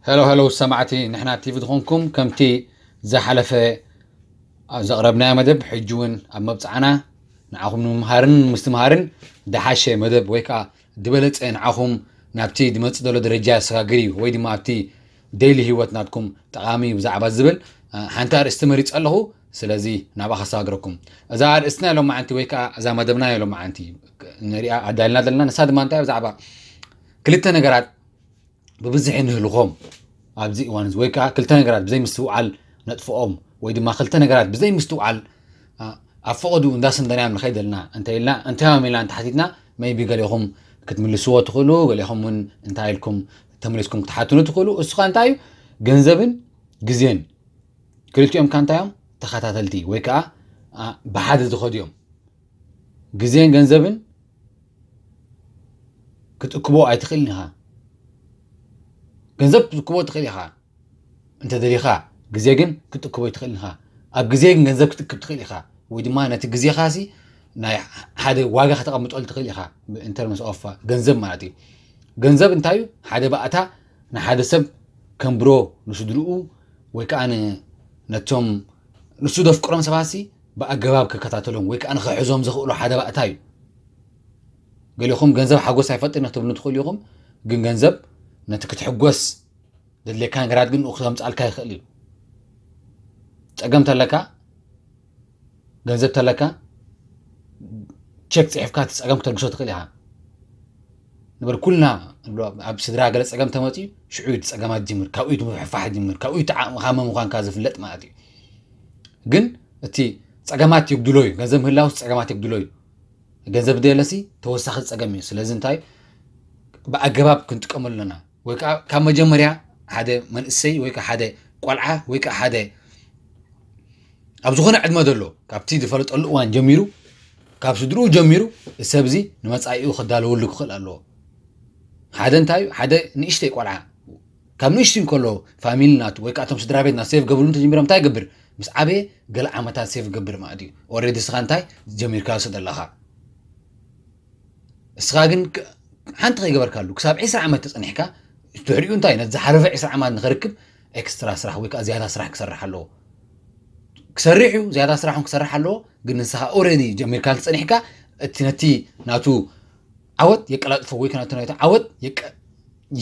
ሄሎ ሄሎ ሰማዕቲ፣ ንሕና ቲቪ ዝኾንኩም ከምቲ ዝሓለፈ ኣብ ዘቕረብናዮ መደብ ሕጂ እውን ኣብ መብፅዓና ንዓኹም ንምምሃርን ንምስትምሃርን ድሓሸ መደብ ወይ ከዓ ዝበለፀ ንዓኹም ናብቲ ዝመፅእ ዘሎ ደረጃ ዘሰጋግር እዩ ወይ ድማ ኣብቲ ዴይሊ ህይወት ናትኩም ጠቓሚ እዩ ብዛዕባ ዝብል ሓንቲ ኣርእስቲ መሪፀ ኣለኹ። ስለዚ ናብኣ ከሰጋግረኩም። እዛ ኣርእስትና ሎም መዓንቲ ወይ ከዓ እዛ መደብና ሎም መዓንቲ ንሪኣ ኣዳልና ዘለና ንሳ ድማ እንታይ ብዛዕባ ክልተ ነገራት ብብዝሒ ንህልኾም ኣብዚ እዋን እዚ ወይ ከዓ ክልተ ነገራት ብዘይ ምስትውዓል ነጥፍኦም ወይ ድማ ክልተ ነገራት ብዘይ ምስትውዓል ኣብ ፈቐዱ እንዳሰንደናዮም ንኸይድ ኣለና እንተ ኢልና እንታይ እዮም ኢልና እንተሓቲትና መይቢ ገሌኹም ክትምልስዎ ትኽእሉ፣ ገሌኹም እውን እንታይ ኢልኩም ተመሊስኩም ክትሓትኑ ትኽእሉ። እሱ ከዓ እንታይ እዩ? ገንዘብን ግዜን ክልቲኦም ከዓ እንታይ እዮም? ተኸታተልቲ ወይ ከዓ ብሓደ ዝኸዱ እዮም። ግዜን ገንዘብን ክትእክቦ ኣይትኽእልን ኢኻ። ገንዘብ ክትእክቦ ትኽእል ኢኻ እንተደሊኻ፣ ግዜ ግን ክትእክቦ ኣይትኽእልን ኢኻ። ኣብ ግዜ ግን ገንዘብ ክትእክብ ትኽእል ኢኻ፣ ወይ ድማ ነቲ ግዜኻሲ ናይ ሓደ ዋጋ ከተቐምጠሉ ትኽእል ኢኻ። In terms of ገንዘብ ማለት እዩ። ገንዘብ እንታይ እዩ? ሓደ ባእታ ንሓደ ሰብ ከንብሮ ንስድርኡ ወይ ከዓ ነቶም ንሱ ዘፍቅሮም ሰባትሲ ብኣገባብ ክከታተሎም ወይ ከዓ ንኽሕዞም ዘኽእሎ ሓደ ባእታ እዩ። ገሊኹም ገንዘብ ሓጎስ ኣይፈጥርን ክትብሉ ትኽእሉ ኢኹም፣ ግን ገንዘብ ነቲ ክትሕጎስ ዘድልየካ ነገራት ግን ንኡ ክተምፅኣልካ ይኽእል እዩ። ፀገም ተለካ፣ ገንዘብ ተለካ፣ ቸክ ፅሒፍካ እቲ ፀገም ክተልግሶ ትኽእል ኢኻ። ንበር ኩልና ኣብ ስድራ ገለ ፀገም ተመፅኡ ሽዑ እቲ ፀገማት ጅምር ካብኡ እቲ ምፍሕፋሕ ጅምር ካብኡ እቲ ዓቕምኻ መን ምዃንካ ዝፍለጥ ማለት እዩ። ግን እቲ ፀገማት የጉድሎ እዩ። ገንዘብ ምህላውስ ፀገማት የጉድሎ እዩ። ገንዘብ ደየለሲ ተወሳኺ ፀገም እዩ። ስለዚ እንታይ ብኣገባብ ክንጥቀመሉ ኣለና። ወይ ከዓ ካብ መጀመርያ ሓደ መንእሰይ ወይ ከዓ ሓደ ቆልዓ ወይ ከዓ ሓደ ኣብ ዝኾነ ዕድመ ዘሎ ካብቲ ዝፈለጠሉ እዋን ጀሚሩ ካብ ስድርኡ ጀሚሩ እዚ ሰብ እዚ ንመፃኢኡ ክዳለወሉ ክኽእል ኣለዎ። ሓደ እንታይ ሓደ ንእሽተይ ቆልዓ ካብ ንእሽቱ እንከሎ ፋሚሊ ናቱ ወይ ከዓ እቶም ስድራ ቤት ናብ ሴቭ ገብርሉ እንተጀሚሮም እንታይ ይገብር? ምስ ዓበየ ገለ ዓመታት ሴቭ ገብር ማለት እዩ። ኦልሬዲ እስኻ እንታይ ጀሚርካ ዝሰደለኻ እስኻ ግን ሓንቲ ከይገበርካሉ ክሳብ ዕስራ ዓመት ተፀኒሕካ ድሕሪኡ እንታይ ነዚ ዝሓለፈ ዕስራ ዓመት ንኸርክብ ኤክስትራ ስራሕ ወይ ከዓ ዝያዳ ስራሕ ክሰርሕ ኣለዎ። ክሰርሕ እዩ ዝያዳ ስራሕ ክሰርሕ ኣለዎ። ግን ንስኻ ኦልሬዲ ጀሚርካ እንተፀኒሕካ እቲ ነቲ ናቱ ዓወት የቀላጥፎ ወይ ከናቱ ናቱ ዓወት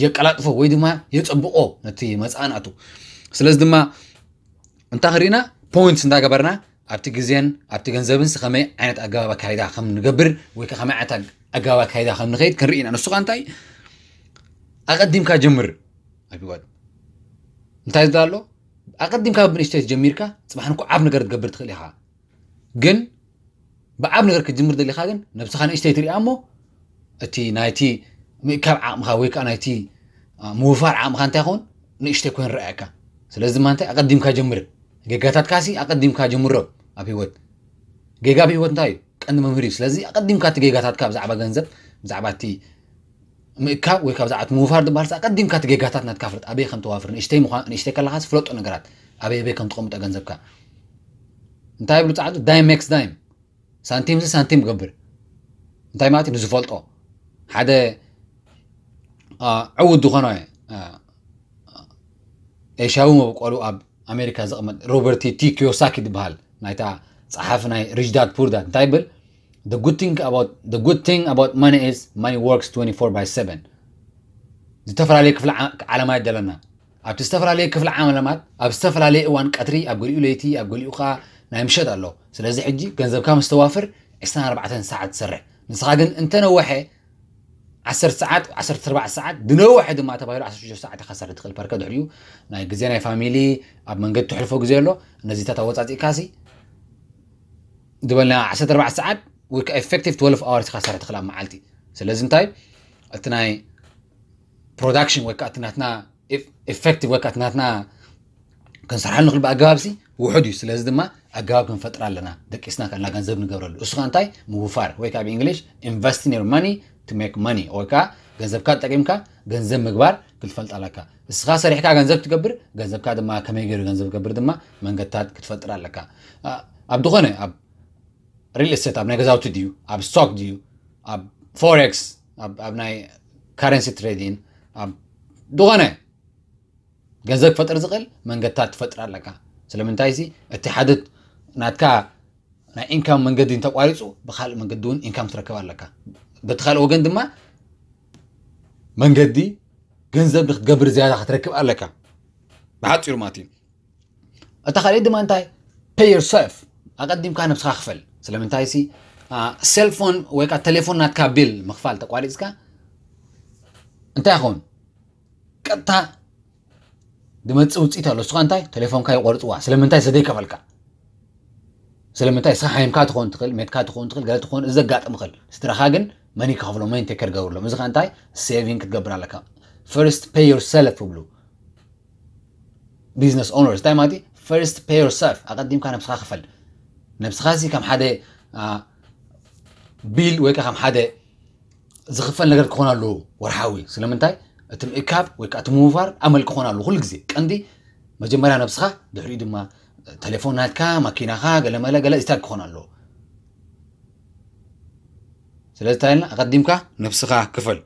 የቀላጥፎ ወይ ድማ የፀብቆ ነቲ መፅኣ ናቱ። ስለዚ ድማ እንታይ ክሪእና ፖይንትስ እንዳገበርና ኣብቲ ግዜን ኣብቲ ገንዘብን ከመይ ዓይነት ኣገባብ ኣካይዳ ከም ንገብር ወይ ከመይ ዓይነት ኣገባብ ኣካይዳ ከም ንኸይድ ክንርኢ ኢና። ንሱ ከዓ እንታይ ኣቐዲምካ ጀምር ኣብ ህይወት እንታይ ዝዳ ኣሎ ኣቐዲምካ ብንእሽተይ ጀሚርካ ፅባሕ ንኩ ዓብ ነገር ትገብር ትኽእል ኢኻ። ግን ብዓብ ነገር ክትጅምር ደሊኻ ግን ነብስኻ ንእሽተይ ትሪኣ እሞ እቲ ናይቲ ምእካብ ዓቕምኻ ወይ ከዓ ናይቲ ምውፋር ዓቕምኻ እንታይ ይኸውን ንእሽተይ ኮይኑ ረኣየካ። ስለዚ ድማ እንታይ ኣቐዲምካ ጀምር። ጌጋታትካሲ ኣቐዲምካ ጀምሮ ኣብ ህይወት። ጌጋ ኣብ ህይወት እንታይ እዩ? ቀንዲ መምህር እዩ። ስለዚ ኣቐዲምካ እቲ ጌጋታትካ ብዛዕባ ገንዘብ ብዛዕባ እቲ ምእካብ ወይ ካብ ዛዕት ምውፋር ዝበሃል ኣቀዲምካ እቲ ጌጋታት ናትካ ፍለጥ ኣበይ ከም ተዋፍር ንእሽተይ ምዃን ንእሽተይ ከለኻስ ፍለጦ ነገራት ኣበይ ኣበይ ከም ትቐምጦ ገንዘብካ እንታይ ይብሉ ፃዕዱ ዳይም ሜክስ ዳይም ሳንቲም ዚ ሳንቲም ገብር እንታይ ማለት እዩ ንዝፈልጦ ሓደ ዕውት ዝኾነ ኤሽያዊ መብቆሉ ኣብ ኣሜሪካ ዝቕመጥ ሮበርቲ ቲ ኪዮሳኪ ዝበሃል ናይታ ፀሓፊ ናይ ሪች ዳድ ፑር ዳድ እንታይ ይብል the good thing about the good thing about money is money works twenty-four by seven። ዝተፈላለዩ ክፍለ ዓለማት ደለና ኣብቲ ዝተፈላለዩ ክፍለ ዓለማት ኣብ ዝተፈላለየ እዋን ቀትሪ ኣብ ገሊኡ ለይቲ ኣብ ገሊኡ ከዓ ናይ ምሸት ኣሎ። ስለዚ ሕጂ ገንዘብካ ምስ ተዋፍር ዕስራን ኣርባዕተን ሰዓት ትሰርሕ ንስኻ ግን እንተነወሐ ዓሰርተ ሰዓት ዓሰርተ ኣርባዕተ ሰዓት ዝነውሐ ድማ ተባሂሉ ዓሰርተ ሽዱሽተ ሰዓት ኢኻ ትሰርሕ ትኽእል ፐርከ ድሕሪኡ ናይ ግዜ ናይ ፋሚሊ ኣብ መንገዲ ትሕልፎ ግዜ ኣሎ። ነዚታት ኣወፃፂእካሲ ዝበልና ዓሰርተ ኣርባዕተ ሰዓት ወይ ከዓ effective twelve hours ኢኻ ትሰርሕ ትኽእል ኣብ መዓልቲ። ስለዚ እንታይ እቲ ናይ ፕሮዳክሽን ወይ ከዓ እቲ ናትና effective ወይ ከዓ እቲ ናትና ክንሰርሓሉ ንኽእል ብኣገባብ ሲ ውሑድ እዩ። ስለዚ ድማ ኣገባብ ክንፈጥር ኣለና። ደቂስና ከልና ገንዘብ ንገብረሉ እሱ ከዓ እንታይ ምውፋር ወይ ከዓ ብእንግሊሽ invest in your money to make money ወይ ከዓ ገንዘብካ ተጠቂምካ ገንዘብ ምግባር ክትፈልጥ ኣለካ። እስኻ ሰሪሕካ ገንዘብ ትገብር ገንዘብካ ድማ ከመይ ገይሩ ገንዘብ ገብር ድማ መንገድታት ክትፈጥር ኣለካ። ኣብ ዝኾነ ኣብ ሪል ስቴት ኣብ ናይ ገዛውቲ ድዩ ኣብ ስቶክ ድዩ ኣብ ፎሬክስ ኣብ ናይ ካረንሲ ትሬዲን ኣብ ዝኾነ ገንዘብ ክፈጥር ዝኽእል መንገድታት ትፈጥር ኣለካ። ስለምንታይ ሲ እቲ ሓደ ናትካ ናይ ኢንካም መንገዲ እንተቋሪፁ ብካልእ መንገዲ እውን ኢንካም ትረክብ ኣለካ። በቲ ካልእ ወገን ድማ መንገዲ ገንዘብ ንክትገብር ዝያዳ ክትረክብ ኣለካ። ብሓፂሩ ማለት እዩ። እታ ካልእ ድማ እንታይ? Pay yourself። ኣቐዲምካ ነብስኻ ክፈል። ስለምንታይ ሲ ሴልፎን ወይ ከዓ ቴሌፎን ናትካ ቢል ምኽፋል ተቋሪፅካ እንታይ ይኸውን? ቀጥታ ዝመፅእ ውፅኢት ኣሎ። እሱኻ እንታይ? ቴሌፎንካ ይቆርፅዋ። ስለምንታይ? ስለዘይከፈልካ። ስለምንታይ? እስኻ ሓይምካ ትኸውን ትኽእል፣ ሜትካ ትኸውን ትኽእል፣ ገለ ትኸውን፣ እዚ ዘጋጥም ይኽእል። ስድራኻ ግን መን ይከፍሎ? መን ቴከር ገብርሎም? እዚ ኸ እንታይ? ሴቪንግ ክትገብር ኣለካ። ፈርስት ፔይ ዮርሰልፍ ይብሉ ቢዝነስ ኦነርስ። እንታይ ማለት እዩ? ፈርስት ፔይ ዮርሰልፍ። ኣቐዲምካ ነብስኻ ክፈል። ነብስኻ ሲ ከም ሓደ ቢል ወይ ከዓ ከም ሓደ ዝኽፈል ነገር ክኾን ኣለዎ ወርሓዊ። ስለምንታይ? እቲ ምእካብ ወይ ከዓ እቲ ምውፋር ኣመል ክኾን ኣለዎ ኩሉ ግዜ። ቀንዲ መጀመርያ ነብስኻ፣ ድሕሪኡ ድማ ቴሌፎን ናትካ፣ ማኪናኻ፣ ገለመለ ገለ ስታክ ክኾን ኣለዎ። ስለዚ እንታይ ኢልና? ኣቐዲምካ ነብስኻ ክፈል።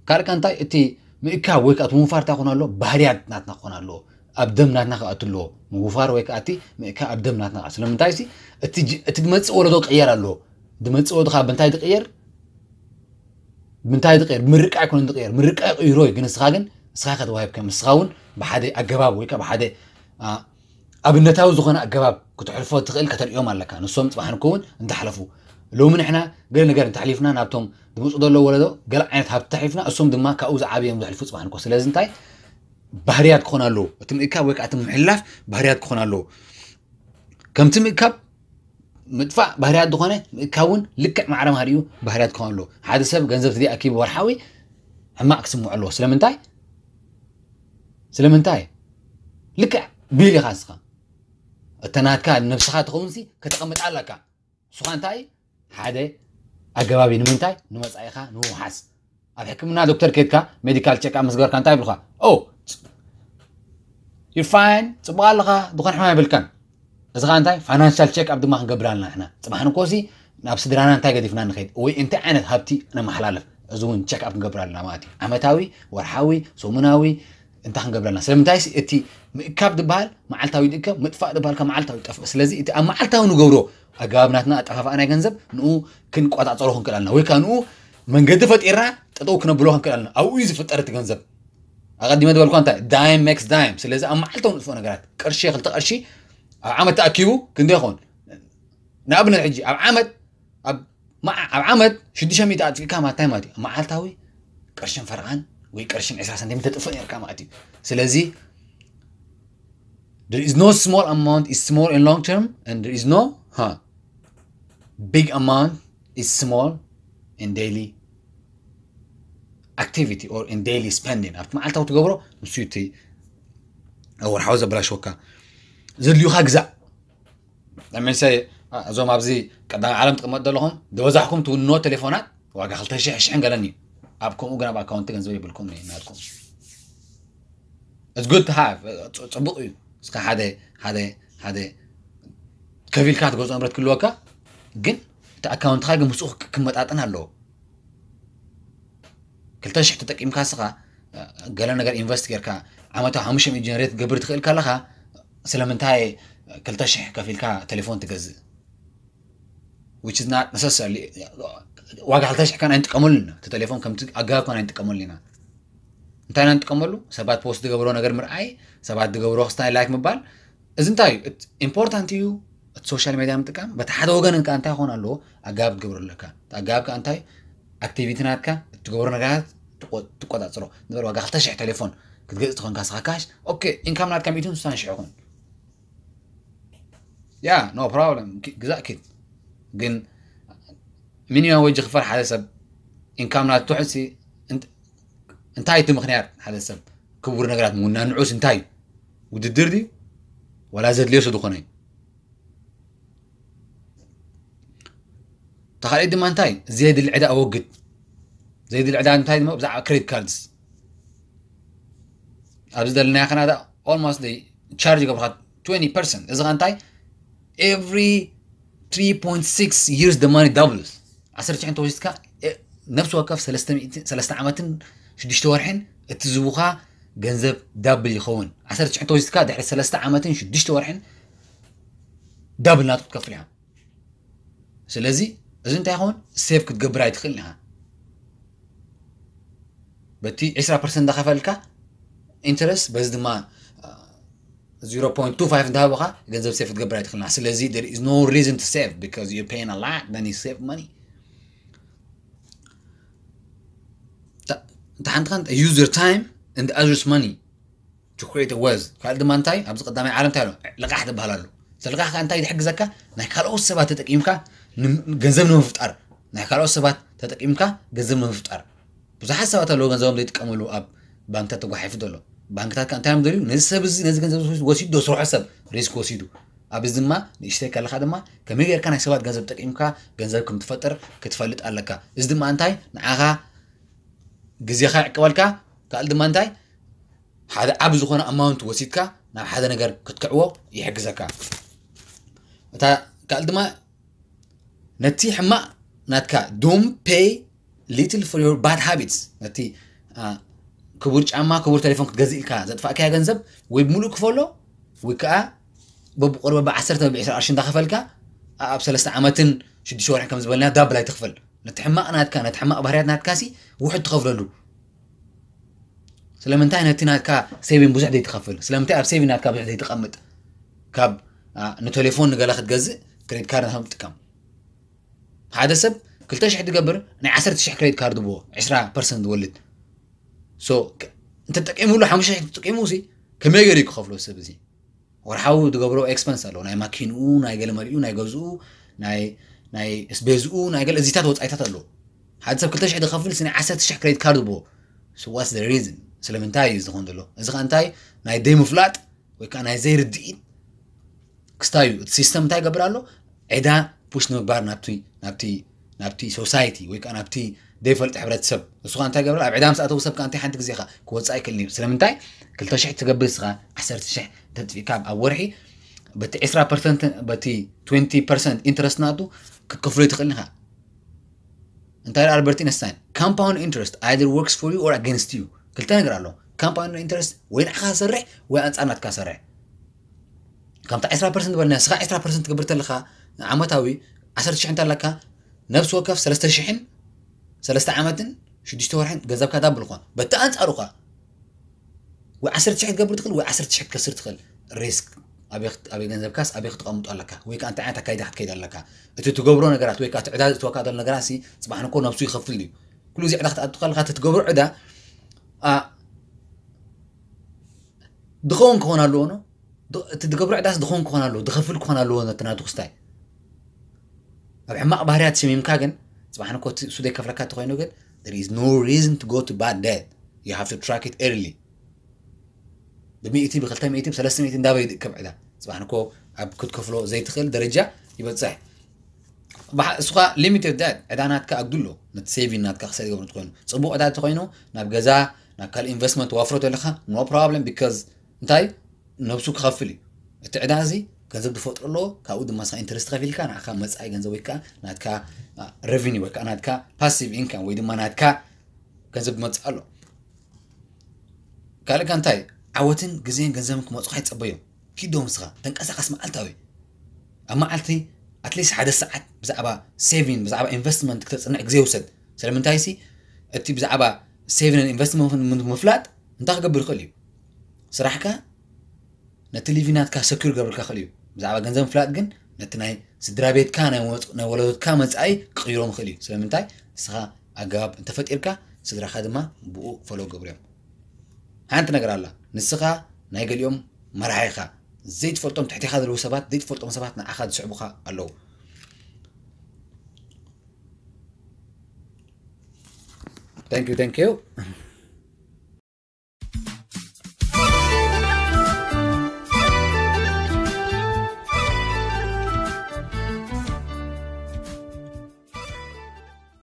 ካልእ እንታይ? እቲ ምእካብ ወይ ከዓ እቲ ምውፋር እንታይ ክኾን ኣለዎ? ባህርያት ናትና ክኾን ኣለዎ። ኣብ ደም ናትና ክኣቱ ኣለዎ። ምውፋር ወይ ከዓ እቲ ምእካብ ኣብ ደም ናትና ክኣቱ። ስለምንታይ ሲ እቲ ጅ- እቲ ዝመፅእ ወለዶ ክቕየር ኣለዎ። ዝመፅእ ወለዶ ካብ ምንታይ ዝቕየር? ምንታይ ዝቕየር? ምርቃ ኣይኮነን ዝቕየር። ምርቃ ይቕይሮ እዩ። ግን ንስኻ ግን ንስኻ ከተዋሂብ ከም ንስኻ እውን ብሓደ ኣገባብ ወይ ከዓ ብሓደ ኣብነታዊ ዝኾነ ኣገባብ ክትሕልፎ ትኽእል ከተርእዮም ኣለካ። ንሶም ፅባሕ ንኮ እውን እንተሓለፉ፣ ሎሚ ንሕና ገለ ነገር እንተሕሊፍና ናብቶም ዝመፁ ዘለዉ ወለዶ ገለ ዓይነት ሃብቲ ተሕሊፍና፣ እሶም ድማ ካብኡ ዝዓበዮም ዘሕልፉ ፅባሕ ንኮ። ስለዚ እንታይ ባህርያት ክኾን ኣለዎ? እቲ ምእካብ ወይ ከዓ እቲ ምሕላፍ ባህርያት ክኾን ኣለዎ። ከምቲ ምእካብ ምጥፋእ ባህርያት ዝኾነ፣ ምእካብ እውን ልክዕ ማዕረ ማህሪኡ ባህርያት ክኾን ኣለዎ። ሓደ ሰብ ገንዘብ ተዘይኣኪቡ ወርሓዊ ሕማቕ ክስምዖ ኣለዎ። ስለምንታይ? ስለምንታይ? ልክዕ ቢል ኢኻ ንስኻ። እተ ናትካ ንነብስኻ ትኸውን ሲ ከተቐምጣ ኣለካ። ንስኻ እንታይ ሓደ ኣገባቢ ንምንታይ ንመጻኢኻ ንምውሓስ። ኣብ ሕክምና ዶክተር ኬድካ ሜዲካል ቼክ ኣፕ ምስ ገበርካ እንታይ ይብልካ? ኦ፣ ዩ ፋይን፣ ጽቡቕ ኣለኻ፣ ዝኾነ ሕማም የብልካን። እዚ ኸዓ እንታይ ፋይናንሻል ቼክ ኣፕ ድማ ክንገብር ኣለና ንሕና። ጽባሕ ንኮሲ ናብ ስድራና እንታይ ገዲፍና ንኸይድ ወይ እንታይ ዓይነት ሃብቲ ነመሓላልፍ፣ እዚ እውን ቼክ ኣፕ ክንገብር ኣለና ማለት እዩ። ዓመታዊ፣ ወርሓዊ፣ ሰሙናዊ እንታይ ክንገብር ኣለና? ስለምንታይ ሲ እቲ ምእካብ ዝበሃል መዓልታዊ ይእከብ፣ ምጥፋእ ዝበሃል ከ መዓልታዊ ይጠፍእ። ስለዚ እቲ ኣብ መዓልታዊ ንገብሮ ኣገባብ ናትና ኣጠፋፍኣ ናይ ገንዘብ ንኡ ክንቆጻጸሮ ክንክእል ኣለና፣ ወይ ከዓ ንኡ መንገዲ ፈጢርና ጠጠው ክነብሎ ክንክእል ኣለና። ኣብኡ እዩ ዝፍጠር እቲ ገንዘብ። ኣቐዲመ ዝበልኳ እንታይ ዳይም ሜክስ ዳይም። ስለዚ ኣብ መዓልታዊ ንጥፍኦ ነገራት ቅርሺ ክልተ ቅርሺ ኣብ ዓመት ተኣኪቡ ክንደይ ይኸውን? ንኣብነት ሕጂ ኣብ ዓመት ኣብ መዓ- ኣብ ዓመት ሽዱሽተ ሚእቲ ኣጥፊእካ ማታይ ማለት እዩ። መዓልታዊ ቅርሽን ፈረቓን ወይ ቅርሽን ዕስራ ሳንቲም ተጥፍእ ነርካ ማለት እዩ። ስለዚ there is no small amount is small in long term, and there is no huh, big amount is small in daily activity or in daily spending። ኣብቲ መዓልታዊ ትገብሮ ንሱ እቲ ወርሓዊ ዘበላሽወካ። ዘድልዩካ ግዛእ። ለምሳሌ እዞም ኣብዚ ቀዳማይ ዓለም ትቕመጥ ዘለኹም ዝበዛሕኩም ትውንዎ ቴሌፎናት ዋጋ ክልተ ሺሕ ሽሕን ገለን እዩ። ኣብ ከምኡ ግን ኣብ ኣካውንቲ ገንዘብ የብልኩም እዩ ናትኩም። It's good to have፣ ጽ- ጽቡቕ እዩ። እስከ ሓደ ሓደ ሓደ ከፊልካ ትገዝኦ ንብረት ክህልወካ፣ ግን እቲ ኣካውንትኻ ግን ምስኡ ክ- ክመጣጠን ኣለዎ። ክልተ ሽሕ ተጠቂምካ እስኻ ገለ ነገር ኢንቨስት ጌርካ ዓመታዊ ሓሙሽተ ሚእቲ ጀነሬት ክትገብር ትኽእል ከለኻ፣ ስለምንታይ ክልተ ሽሕ ከፊልካ ቴሌፎን ትገዝእ? Which is not necessarily ዋጋ ክልተ ሽሕ ካን ኣይንጥቀመሉ ኢና። እቲ ቴሌፎን ከምቲ ኣገባብ ካን ኣይንጥቀመሉ ኢና። እንታይ ኢና ንጥቀመሉ? ሰባት ፖስት ዝገብሮ ነገር ምርኣይ፣ ሰባት ዝገብሮ ክስታይ ላይክ ምባል። እዚ እንታይ እዩ? ኢምፖርታንት እዩ። እቲ ሶሻል ሜድያ ምጥቃም በቲ ሓደ ወገን እንካ እንታይ ክኾን ኣለዎ? ኣገባብ ክትገብሮ ኣለካ። እቲ ኣገባብ ከ እንታይ? ኣክቲቪቲ ናትካ፣ እትገብሮ ነገራት ትቆ- ትቆጻጽሮ። ንበር ዋጋ ክልተ ሽሕ ቴሌፎን ክትገዝእ ትኾንካ ስኻ ካሽ፣ ኦኬ፣ ኢንካም ናትካ ሚእትን ስሳን ሽሕ ይኹን። ያ ኖ ፕሮብለም፣ ግዛእ ኪድ። ግን ሚኒማም ወጅ ክፈል ሓደ ሰብ ኢንካም ናቱ ትሑት ሲ እንት- እንታይ እቲ ምኽንያት ሓደ ሰብ ክቡር ነገራት ምውናን ንዑስ እንታይ እዩ? ውድድር ድዩ? ዋላ ዘድልዮ ስለ ዝኾነ እዩ። ተኻልእ ድማ እንታይ? ዘየድሊ ዕዳ ኣወግድ። ዘየድሊ ዕዳ እንታይ ድማ ብዛዕባ ክሬዲት ካርድስ ኣብዚ ዘለና ካናዳ ኦልሞስት ቻርጅ ገብርካ ትወንቲ ፐርሰንት። እዚ ኸ እንታይ? Every three point six years the money doubles። ዓሰርተ ሽሕን ተወሲድካ እ- ነፍሲ ወከፍ ሰለስተ ሚእቲ ሰለስተ ዓመትን ሽዱሽተ ወርሕን እቲ ዝቡኻ ገንዘብ ዳብል ይኸውን። ዓሰርተ ሽሕ ተወሲድካ ድሕሪ ሰለስተ ዓመትን ሽዱሽተ ወርሕን ዳብል ናቱ ክትከፍል ኢኻ። ስለዚ እዚ እንታይ ይኸውን? ሴቭ ክትገብር ኣይትኽእልን ኢኻ። በቲ ዕስራ ፐርሰንት እንዳኸፈልካ ኢንተረስት፣ በዚ ድማ ዜሮ ፖይንት ቱ ፋይቭ እንዳሃብኻ ገንዘብ ሴቭ ክትገብር ኣይትኽእልን ኢኻ። ስለዚ there is no reason to save because you're paying a lot, then you save money. እንተ ሓንቲ ኸን use your time and others money to create a wealth. ካልእ ድማ እንታይ ኣብዚ ቀዳማይ ዓለም እንታይ ኣሎ? ልቓሕ ዝበሃል ኣሎ። እዚ ልቓሕ ከኣ እንታይ ዝሕግዘካ? ናይ ካልኦት ሰባት ተጠቂምካ ን- ገንዘብ ንምፍጣር፣ ናይ ካልኦት ሰባት ተጠቂምካ ገንዘብ ንምፍጣር። ብዙሓት ሰባት ኣለዉ ገንዘቦም ዘይጥቀምሉ ኣብ ባንክታት ተጓሒፉ ዘሎ። ባንክታት ከኣ እንታይ እዮም ደልዩ? ነዚ ሰብ እዚ ነዚ ገንዘብ እዚ ወሲዱ ዶ ስርሖ ሰብ ሪስክ ወሲዱ። ኣብዚ ድማ ንእሽተይ ከለኻ ድማ ከመይ ጌርካ ናይ ሰባት ገንዘብ ተጠቂምካ ገንዘብ ከም ትፈጥር ክትፈልጥ ኣለካ። እዚ ድማ እንታይ ንዓኻ ግዜኻ ይዕቅበልካ። ካልእ ድማ እንታይ ሓደ ዓቢ ዝኾነ ኣማውንት ወሲድካ ናብ ሓደ ነገር ክትክዕዎ ይሕግዘካ። እታ ካልእ ድማ ነቲ ሕማቕ ናትካ don't pay little for your bad habits፣ ነቲ አ፣ ክቡር ጫማ ክቡር ቴሌፎን ክትገዝእ ኢልካ ዘጥፋእካዮ ገንዘብ ወይ ብምሉእ ክፈሎ ወይ ከዓ በብቁሪ በብ ዓሰርተ በብ ዕስራ ቅርሺ እንዳኸፈልካ ኣብ ሰለስተ ዓመትን ሽዱሽተ ወርሒ ከም ዝበልና ዳብል ኣይትኽፈል። ነቲ ሕማቕ ናትካ ነቲ ሕማቕ ባህርያት ናትካ ሲ ውሕድ ትኸፍለሉ። ስለምንታይ ነቲ ናትካ ሴቪን ብዙሕ ዘይትኸፍል? ስለምንታይ ኣብ ሴቪን ናትካ ብዙሕ ዘይትቐምጥ? ካብ አ፣ ንቴሌፎን ንገለ ክትገዝእ ክሬዲት ካርድ ናትካ ትጥቀም። ሓደ ሰብ ክልተ ሽሕ ትገብር ናይ ዓሰርተ ሽሕ ክሬዲት ካርድ ብዎ ዕስራ ፐርሰንት ዝወልድ። ሶ እንተጠቂሙሉ ሓሙሽተ ሽሕ ተጠቂሙ ሲ ከመይ ገይሩ ክኸፍሎ ሰብ እዚ? ወርሓዊ ዝገብሮ ኤክስፐንስ ኣሎ። ናይ ማኪንኡ፣ ናይ ገለ መሊኡ፣ ናይ ገዝኡ፣ ናይ ናይ ስቤዝኡ፣ ናይ ገለ እዚታት ወጻኢታት ኣሎ። ሓደ ሰብ ክልተ ሽሕ ዝኸፍል ሲ ናይ ዓሰርተ ሽሕ ክሬዲት ካርድ ብዎ። So what's the reason? ስለምንታይ እዩ ዝኸውን ዘሎ? እዚ ከ እንታይ ናይ ዘይምፍላጥ ወይ ከዓ ናይ ዘይርድኢት ክስታይ እዩ። እቲ ሲስተም እንታይ ይገብር ኣሎ? ዕዳ ፑሽ ንምግባር ናብቲ ናብቲ ናብቲ ሶሳይቲ ወይ ከዓ ናብቲ ዘይፈልጥ ሕብረተሰብ። ንሱ ከዓ እንታይ ይገብር? ኣብ ዕዳ ምስ ኣተው ሰብ ከዓ እንታይ ሓንቲ ግዜ ከዓ ክወፅእ ኣይክእልን እዩ። ስለምንታይ? ክልተ ሽሕ ትገብር ንስኻ ዓሰርተ ሽሕ ተጥፊእካ ኣብ ወርሒ በቲ ዕስራ ፐርሰንት በቲ ትወንቲ ፐርሰንት ኢንትረስት ናቱ ክትከፍሎ ይትኽእል ኢኻ። እንታይ ኢሉ ኣልበርት ኢንስታይን? Compound interest either works for you or against you። ክልተ ነገር ኣሎ። Compound interest ወይ ንዓኻ ሰርሕ ወይ ኣንጻር ናትካ ሰርሕ። ከምታ ዕስራ ፐርሰንት በልና ስኻ ዕስራ ፐርሰንት ትገብር ተለኻ ዓመታዊ ዓሰርተ ሽሕ እንተለካ ነብሲ ወከፍ ሰለስተ ሽሕን ሰለስተ ዓመትን ሽዱሽተ ወርሕን ገንዘብካ ዳብል ኾን። በቲ ኣንጻሩ ኸ ወይ ዓሰርተ ሽሕ ክትገብር ትኽእል ወይ ዓሰርተ ሽሕ ክትከስር ትኽእል። ሪስክ ኣበይ ክት- ኣበይ ገንዘብካስ ኣበይ ክትቐምጦ ኣለካ ወይ ከዓ እንታይ ዓይነት ኣካይዳ ክትከይድ ኣለካ። እቲ ትገብሮ ነገራት ወይ ከዓ እቲ ዕዳ ዝእትወካ ዘሎ ነገራት ሲ ፅባሕ ንኮ ነብሱ ይኸፍል እዩ። ኩሉ እዚ ዕዳ ክትኣቱ ከለካ እቲ ትገብሮ ዕዳ ኣ፣ ድኸውን ክኾን ኣለዎ ነው። ድ- እቲ ትገብሮ ዕዳስ ድኾን ክኾን ኣለዎ ድኸፍል ክኾን ኣለዎ ነቲ ናቱ ክስታይ ኣብ ሕማቕ ባህርያት ሸሚምካ ግን ፅባሕ ንኮ እቲ እሱ ዘይከፍለካ እንተኮይኑ ግን there is no reason to go to bad debt. You have to track it early. ብሚእቲ ብክልተ ሚእቲ ብሰለስተ ሚእቲ እንዳበይ ይድከብ ዕዳ ፅባሕ ንኮ ኣብ ክትከፍሎ ዘይትኽእል ደረጃ ይበፅሕ። ባሕ- እሱኻ ሊሚትድ ዳት ዕዳ ናትካ ኣግድሎ። ነቲ ሴቪን ናትካ ክሳይ ዝገብሩ እንተኮይኑ ፅቡቅ ዕዳ እንተኮይኑ ናብ ገዛ ናብ ካልእ ኢንቨስትመንት ተዋፍሮ ዘለካ no problem because እንታይ ነብሱ ክኸፍል እዩ። እቲ ዕዳ እዚ ገንዘብ ዝፈጥሮ ኣለዎ። ካብኡ ድማ ስኻ ኢንተረስት ከፊልካ ንዓኻ መፃኢ ገንዘብ ወይ ከዓ ናትካ ሬቨኒ ወይ ከዓ ናትካ ፓሲቭ ኢንካም ወይ ድማ ናትካ ገንዘብ ዝመፅእ ኣሎ። ካልእ ከ እንታይ? ዓወትን ግዜን ገንዘብን ክመፁኻ ይፀበዮም። ኪዶ ምስኻ ተንቀሳቐስ መዓልታዊ ኣብ መዓልቲ ኣትሊስት ሓደ ሰዓት ብዛዕባ ሴቪን ብዛዕባ ኢንቨስትመንት ክተፅንዕ ግዜ ውሰድ። ስለምንታይ ሲ እቲ ብዛዕባ ሴቪን ኢንቨስትመንት ምፍላጥ እንታይ ክገብር ይኽእል እዩ? ስራሕካ ነቲ ሊቪ ናትካ ሰኪር ገብርካ ክእል እዩ። ብዛዕባ ገንዘብ ምፍላጥ ግን ነቲ ናይ ስድራ ቤትካ ናይ ወለዶትካ መፃኢ ክቅይሮም ይኽእል እዩ። ስለምንታይ? ንስኻ ኣገባብ እንተፈጢርካ ስድራኻ ድማ ብኡ ፈሎ ገብርዮም። ሓንቲ ነገር ኣላ። ንስኻ ናይ ገሊኦም መራሒ ኢኻ። ዘይትፈልጦም ትሕቲኻ ዘለዉ ሰባት ዘይትፈልጦም ሰባት ንዓኻ ዝስዕቡኻ ኣለዉ። Thank you, thank you.